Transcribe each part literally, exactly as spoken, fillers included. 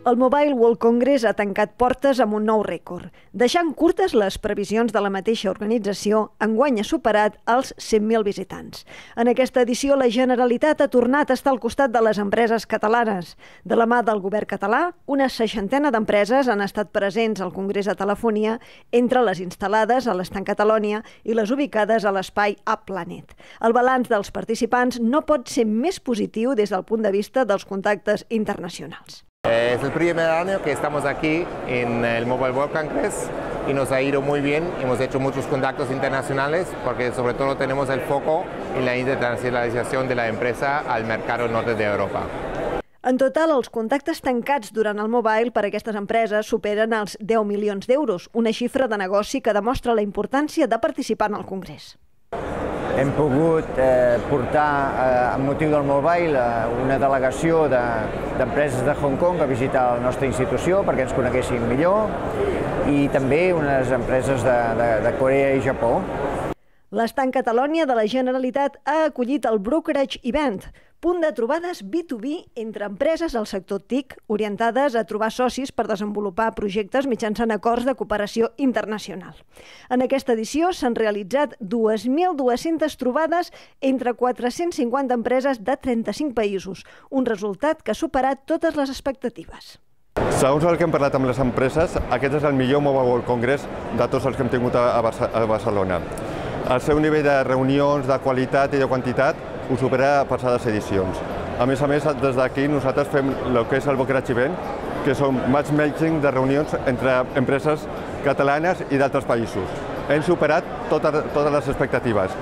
El Mobile World Congress ha tancat portes amb un nou rècord. Deixant curtes les previsions de la mateixa organització, enguany ha superat els cent mil visitants. En aquesta edició, la Generalitat ha tornat a estar al costat de les empreses catalanes. De la mà del govern català, una seixantena d'empreses han estat presents al Congrés de Telefonia, entre les instal·lades a l'Estand Catalonia i les ubicades a l'espai A-Planet. El balanç dels participants no pot ser més positiu des del punt de vista dels contactes internacionals. Es el primer año que estamos aquí en el Mobile World Congress y nos ha ido muy bien. Hemos hecho muchos contactos internacionales porque sobre todo tenemos el foco en la internacionalización de la empresa al mercado norte de Europa. En total, els contactes tancats durant el Mobile per a aquestes empreses superen els deu milions d'euros, una xifra de negoci que demostra la importància de participar en el Congrés. Hem pogut eh, portar, eh, amb motiu del Mobile, eh, una delegació d'empreses de, de Hong Kong a visitar la nostra institució perquè ens coneguessin millor i també unes empreses de, de, de Corea i Japó. L'Estand Catalonia de la Generalitat ha acollit el Brokerage Event, punt de trobades B dos B entre empreses del sector T I C orientades a trobar socis per desenvolupar projectes mitjançant acords de cooperació internacional. En aquesta edició s'han realitzat dos mil dues-centes trobades entre quatre-cents cinquanta empreses de trenta-cinc països, un resultat que ha superat totes les expectatives. Segons el que hem parlat amb les empreses, aquest és el millor Mobile World Congress de tots els que hem tingut a Barcelona. El seu nivell de reunions, de qualitat i de quantitat ho supera passades edicions. A més a més, des d'aquí nosaltres fem el que és el Brokerage Event, que són matchmaking de reunions entre empreses catalanes i d'altres països. Hem superat totes, totes les expectatives.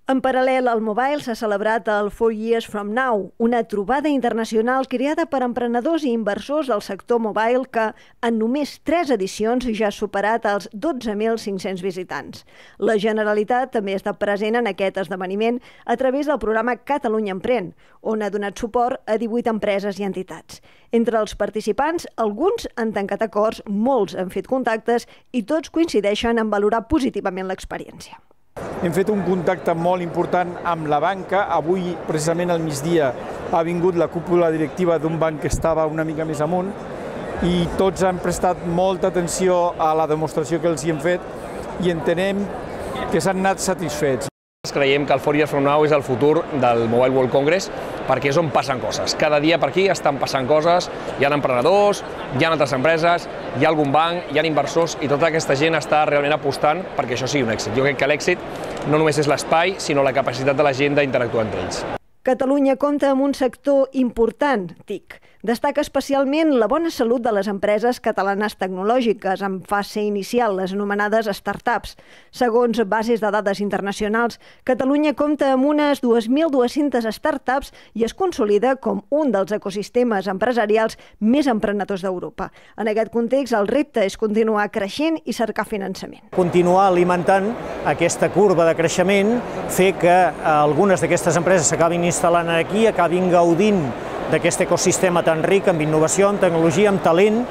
En paral·lel al Mobile s'ha celebrat el Four Years From Now, una trobada internacional creada per emprenedors i inversors del sector mobile que, en només tres edicions, ja ha superat els dotze mil cinc-cents visitants. La Generalitat també ha estat present en aquest esdeveniment a través del programa Catalunya Emprèn, on ha donat suport a divuit empreses i entitats. Entre els participants, alguns han tancat acords, molts han fet contactes i tots coincideixen en valorar positivament l'experiència. Hem fet un contacte molt important amb la banca. Avui, precisament al migdia, ha vingut la cúpula directiva d'un banc que estava una mica més amunt i tots han prestat molta atenció a la demostració que els hi hem fet i entenem que s'han anat satisfets. Creiem que el Four Years From Now és el futur del Mobile World Congress perquè és on passen coses. Cada dia per aquí estan passant coses, hi ha emprenedors, hi ha altres empreses, hi ha algun banc, hi ha inversors i tota aquesta gent està realment apostant perquè això sigui un èxit. Jo crec que l'èxit no només és l'espai, sinó la capacitat de la gent d'interactuar entre ells. Catalunya compta amb un sector important, T I C. Destaca especialment la bona salut de les empreses catalanes tecnològiques en fase inicial, les anomenades startups. Segons bases de dades internacionals, Catalunya compta amb unes dos mil dues-centes startups i es consolida com un dels ecosistemes empresarials més emprenedors d'Europa. En aquest context, el repte és continuar creixent i cercar finançament. Continuar alimentant aquesta curva de creixement, fer que algunes d'aquestes empreses s'acabin instal·lant aquí, acabin gaudint d'aquest ecosistema tan ric amb innovació, amb tecnologia, amb talent,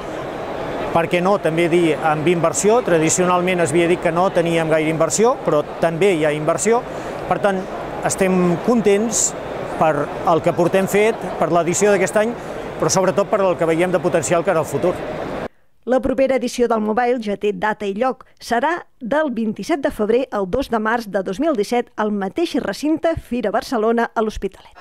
per què no també dir amb inversió. Tradicionalment es havia dit que no teníem gaire inversió, però també hi ha inversió. Per tant, estem contents per el que portem fet, per l'edició d'aquest any, però sobretot per el que veiem de potencial cara al futur. La propera edició del Mobile ja té data i lloc. Serà del vint-i-set de febrer al dos de març de dos mil disset al mateix recinte Fira Barcelona a l'Hospitalet.